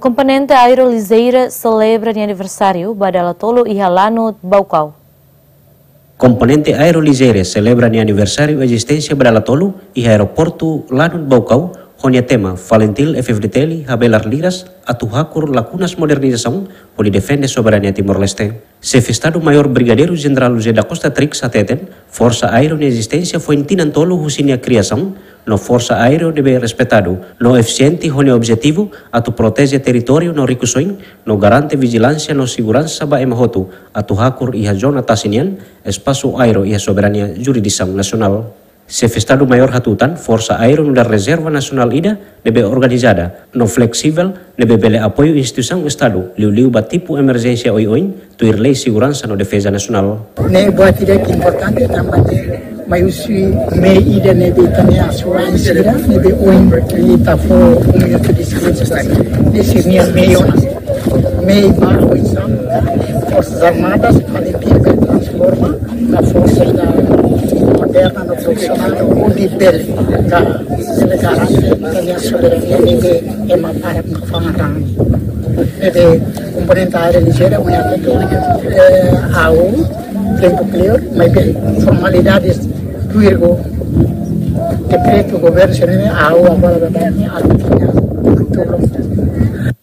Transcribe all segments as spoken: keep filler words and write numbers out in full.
Komponente Aero Ligeira selebra nia aniversáriu ba dala tolu iha Lanut Baucau. Komponente Aero Ligeira selebra nia aniversáriu ezisténsia ba dala tolu iha Aeroportu Lanut Baucau, ho nia tema Falintil F-FDTL habelar liras atu hakur lakunas modernizasaun hodi defende soberania Timor-Leste. Xefe Estadu Maiór Brigadeiru Jenerál José da Costa Trix hateten, Forsa Aéreo nia ezisténsia foin tinan tolu husi nia kriasaun, no Forsa Aéreo ne'ebé respeitadu no efisiente ho nia objetivu atu proteje territóriu no rikusoin, no garante vijilánsia no seguransa ba ema hotu atu hakur iha zona tasi nian, espasu aéreu iha soberania jurisdisaun nasionál. Xefe Estadu Maiór hatutan, Forsa Aéreo nu'udar rezerva nasionál ida ne'ebé organizada no fleksivel, ne'ebé bele apoiu instituisaun Estadu, liuliu ba tipu emerjénsia oioin, tuir lei seguransa no defeza nasionál. Ne'e buat ida ke importante tanba ne'e mai husi mehi ida ne'ebé ita-nia asuransi ida ne'ebé ohin ita fó um minuto de silêncio. Ne'e sei mehi ona. Mehi ba oinsá Forsas Armadas, Falintil bele transforma ba forsa ida moderna no profisionál, hodi bele ga-, bele garante ita-nia soberania ne'ebé ema barak nunka fa'an rani. Ne'ebé Komponente Aero Ligeira, ohin atu, eh, ha'u, tempu kleur, maibé formalidades tuir ho dekretu governu sira-ne'e, ha'u agora ba dani, ha'u tiha, tudo.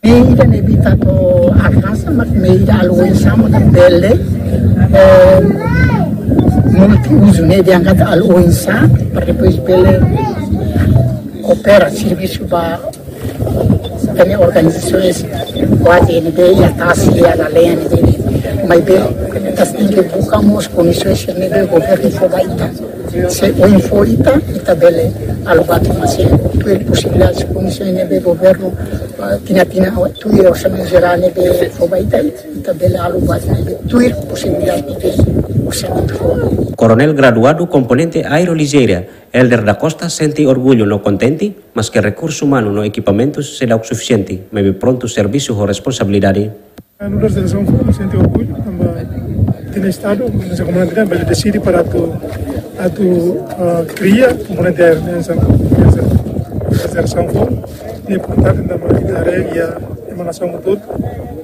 Mehi ida ne'ebé ita atu alkansa, mak mehi ida halo oinsá mak bele, eh, multiuzu, ne'e diangkat halo oinsá, para depois bele opera servisu ba ita-nia organizasaun kuaze ne'ebé iha tasi, iha lalehan ne'ebé. Maibé ita tenke buka mós kondisaun ne'ebé governu fó ba ita. Se ohin fó ita, ita bele halo buat ida, mas se tuir posibilidade, kondisaun ne'ebé governu, ah, tinan-tinan, tuir orsamentu jerál ne'ebé fó ba ita, ita bele halo buat ne'ebé tuir posibilidade ne'ebé orsamentu fó. Koronél graduadu Komponente Aero Ligeira, Helder da Costa, sente orgullu no kontente, maske rekursu umanu no ekipamentus seidauk sufisiente, maibé prontu servisu ho responsabilidade. Nu'udar Jerasaun Foun, sente orgullu tanba ita-nia Estadu, ita-nia komunidade bele deside para atu, atu, ah, kria komponente aéreu ne'e hanesan, hanesan Jerasaun Foun. Ne'e importante tanba ita haree iha ema nasaun hotu,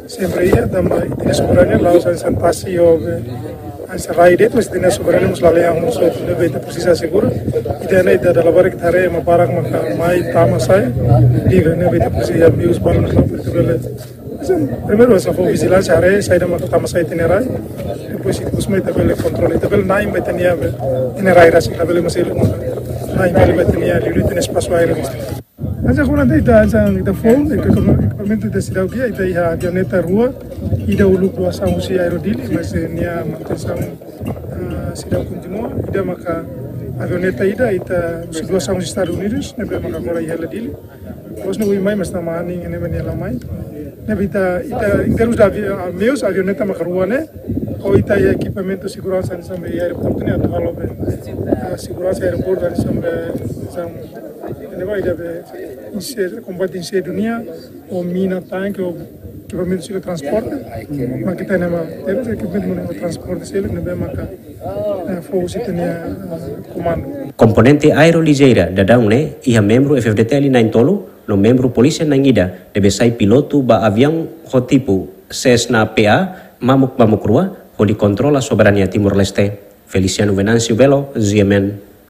sempre iha, tanba ita-nia soberania la'ós hanesan tasi ou be hanesan rai de'it, mas ita-nia soberania mós lalehan mós hotu, ne'ebé ita presiza asegura. Ita ne'e ita dala barak ita haree ema barak maka mai tama sai livre, ne'ebé ita presiza meius balu maka ita bele. Hanesan, primeiru hanesan fó vijilánsia, haree saida maka tama sai ita-nia rai. Depois ita kosme ita bele kontrola, ita bele na'in ba ita-nia be, ita-nia rai rasik, ita bele masih iha maka na'in bele ba ita-nia, liuliu ita-nia espasu aéreu. Hanesan komponente ita, hanesan ita foun, ita ekipamentu ita seidauk iha, ita iha avioneta rua, ida uluk doasaun husi Aero Dili, mas, eh, nia manutensaun, ah, seidauk kontinua, ida maka avioneta ida, ita husi doasaun husi Estadus Unidus, ne'ebé maka agora iha hela Dili. Depois ne'e ohin mai, mas tama anin ne'e nia la mai. Ne'ebé ita, ita, em termos de avi-, ah, meius, avioneta maka rua ne'e, ho ita iha ekipamentu seguransa hanesan be iha aeroportu ne'e atu halo be, ah, seguransa aeroportu hanesan be, hanesan, ne'ebé ida be, inse-, kombate insêndiu nian, ou mina tanke, ou ekipamentu sira transporte, maka ita-nia ema, terus ekipamentu mak transporte sira, ne'ebé maka, eh, fó husi ita-nia, eh, komandu. Komponente Aero Ligeira daudaun ne'e iha membru F-FDTL na'in tolu, no membru polísia na'in ida, ne'ebé sai pilotu ba aviaun ho tipu Cessna P A mamuk mamuk rua, hodi kontrola soberania Timor-Leste. Feliciano Venâncio Belo, G M N.